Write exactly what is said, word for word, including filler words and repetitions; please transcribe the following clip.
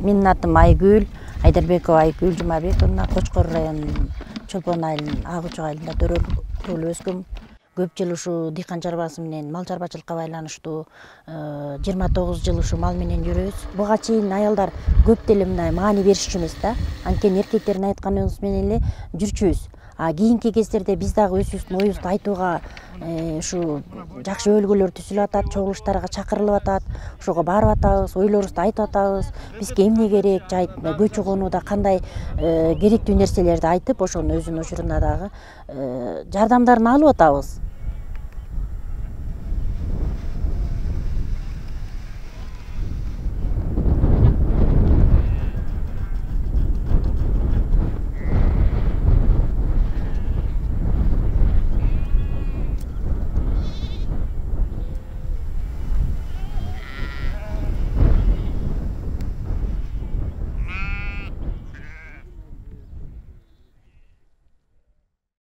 Менин атым Айгүл, Айдарбекова Айгүл Жумабековна, Кочкор районунун Чолпон айылынын Ак Учак айылында төрөлүп өскөм. Көп жыл ушу дыйкан чарбасы менен, мал чарбачылыкка байланыштуу жыйырма тогуз жыл ушу мал менен жүрөбүз. Буга чейин аялдар көп деле мындай маани беришчү эмес да. Анткени эркектердин айтканыбыз менен эле жүрчүбүз. А кийинки кездерде биз дагы өзүбүздүн оюбузду айтууга ушу жакшы өлгөлөр түзүлүп атат, чогулуштарга чакырылып атат. Ошого барып атабыз, ойлорубузду айтып атабыз. Бизге эмне керек, жайыт көчү конууда кандай керектүү нерселерди айтып, ошонун өзүнүн учуруна дагы жардамдарын алып атабыз.